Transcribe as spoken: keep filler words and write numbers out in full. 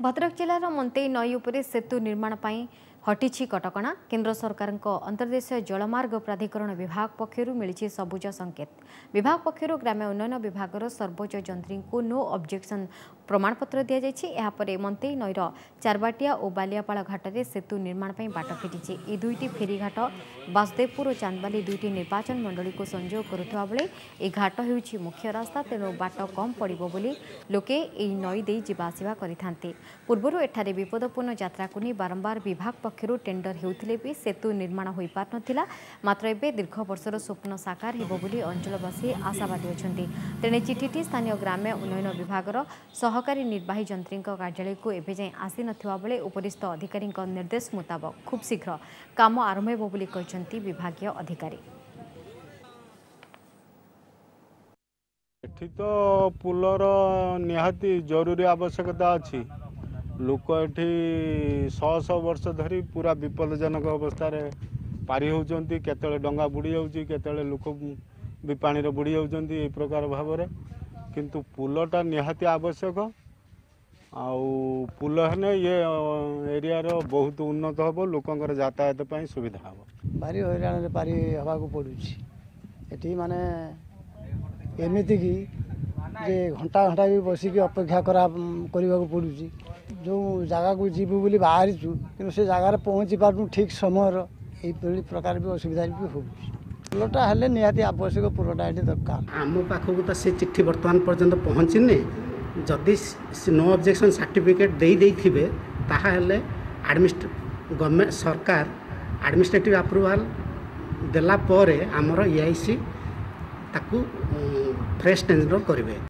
ଭଦ୍ରକ ଜିଲ୍ଲାର ମନ୍ତେଇ ନଈ ଉପରେ ସେତୁ ନିର୍ମାଣ ପାଇଁ ହଟିଛି କଟକଣା। କେନ୍ଦ୍ର ସରକାରଙ୍କ ଅନ୍ତର୍ଦେଶୀୟ ଜଳମାର୍ଗ ପ୍ରାଧିକରଣ ବିଭାଗ ପକ୍ଷରୁ ମିଳିଛି ସବୁଜ ସଂକେତ। ବିଭାଗ ପକ୍ଷରୁ ଗ୍ରାମ୍ୟ ଉନ୍ନୟନ ବିଭାଗର ସର୍ବୋଚ୍ଚ ଯନ୍ତ୍ରୀଙ୍କୁ ନୋ ଅବଜେକ୍ସନ ପ୍ରମାଣପତ୍ର ଦିଆଯାଇଛି। ଏହାପରେ ମନ୍ତେଇ ନଈର ଚାରବାଟିଆ ଓ ବାଲିଆପାଳ ଘାଟରେ ସେତୁ ନିର୍ମାଣ ପାଇଁ ବାଟ ଫିଟିଛି। ଏହି ଦୁଇଟି ଫେରିଘାଟ ବାସୁଦେବପୁର ଓ ଚାନ୍ଦବାଲି ଦୁଇଟି ନିର୍ବାଚନ ମଣ୍ଡଳୀକୁ ସଂଯୋଗ କରୁଥିବା ବେଳେ ଏହି ଘାଟ ହେଉଛି ମୁଖ୍ୟ ରାସ୍ତା। ତେଣୁ ବାଟ କମ୍ ପଡ଼ିବ ବୋଲି ଲୋକେ ଏହି ନଈ ଦେଇ ଯିବା ଆସିବା କରିଥାନ୍ତି। ପୂର୍ବରୁ ଏଠାରେ ବିପଦପୂର୍ଣ୍ଣ ଯାତ୍ରାକୁ ନେଇ ବାରମ୍ବାର ବିଭାଗ ପକ୍ଷରୁ ଟେଣ୍ଡର ହେଉଥିଲେ ବି ସେତୁ ନିର୍ମାଣ ହୋଇପାରୁନଥିଲା। ମାତ୍ର ଏବେ ଦୀର୍ଘ ବର୍ଷର ସ୍ୱପ୍ନ ସାକାର ହେବ ବୋଲି ଅଞ୍ଚଳବାସୀ ଆଶାବାଦୀ ଅଛନ୍ତି। ତେଣେ ଚିଠିଟି ସ୍ଥାନୀୟ ଗ୍ରାମ୍ୟ ଉନ୍ନୟନ ବିଭାଗର ସହକାରୀ ନିର୍ବାହୀ ଯନ୍ତ୍ରୀଙ୍କ କାର୍ଯ୍ୟାଳୟକୁ ଏବେ ଯାଏଁ ଆସିନଥିବା ବେଳେ ଉପରିସ୍ଥ ଅଧିକାରୀଙ୍କ ନିର୍ଦ୍ଦେଶ ମୁତାବକ ଖୁବ୍ ଶୀଘ୍ର କାମ ଆରମ୍ଭ ହେବ ବୋଲି କହିଛନ୍ତି ବିଭାଗୀୟ ଅଧିକାରୀ। ଏଠି ତ ପୋଲର ନିହାତି ଜରୁରୀ ଆବଶ୍ୟକତା ଅଛି। ଲୋକ ଏଠି ଶହ ଶହ ବର୍ଷ ଧରି ପୁରା ବିପଦଜନକ ଅବସ୍ଥାରେ ପାରି ହେଉଛନ୍ତି। କେତେବେଳେ ଡଙ୍ଗା ବୁଡ଼ି ଯାଉଛି, କେତେବେଳେ ଲୋକ ବି ପାଣିରେ ବୁଡ଼ି ଯାଉଛନ୍ତି, ଏଇ ପ୍ରକାର ଭାବରେ। କିନ୍ତୁ ପୋଲଟା ନିହାତି ଆବଶ୍ୟକ। ଆଉ ପୋଲ ହେଲେ ଇଏ ଏରିଆର ବହୁତ ଉନ୍ନତ ହେବ, ଲୋକଙ୍କର ଯାତାୟାତ ପାଇଁ ସୁବିଧା ହେବ। ଭାରି ହଇରାଣରେ ପାରି ହେବାକୁ ପଡ଼ୁଛି ଏଠି। ମାନେ ଏମିତିକି ଯେ ଘଣ୍ଟା ଘଣ୍ଟା ବି ବସିକି ଅପେକ୍ଷା କରା କରିବାକୁ ପଡ଼ୁଛି। ଯେଉଁ ଜାଗାକୁ ଯିବୁ ବୋଲି ବାହାରିଛୁ, କିନ୍ତୁ ସେ ଜାଗାରେ ପହଞ୍ଚି ପାରୁନୁ ଠିକ୍ ସମୟର। ଏଇଭଳି ପ୍ରକାର ବି ଅସୁବିଧା ବି ହେଉଛି। ପୋଲଟା ହେଲେ ନିହାତି ଆବଶ୍ୟକ, ପୋଲଟା ଏଠି ଦରକାର। ଆମ ପାଖକୁ ତ ସେ ଚିଠି ବର୍ତ୍ତମାନ ପର୍ଯ୍ୟନ୍ତ ପହଞ୍ଚିନି। ଯଦି ନୋ ଅବଜେକ୍ସନ୍ ସାର୍ଟିଫିକେଟ୍ ଦେଇ ଦେଇଥିବେ, ତାହେଲେ ଆଡ଼ମିନିଷ୍ଟ୍ରେ ଗଭର୍ଣ୍ଣମେଣ୍ଟ ସରକାର ଆଡ଼ମିନିଷ୍ଟ୍ରେଟିଭ୍ ଆପ୍ରୁଭାଲ୍ ଦେଲା ପରେ ଆମର ଇ I C ତାକୁ ଫ୍ରେଶ୍ ଟେଣ୍ଡର କରିବେ।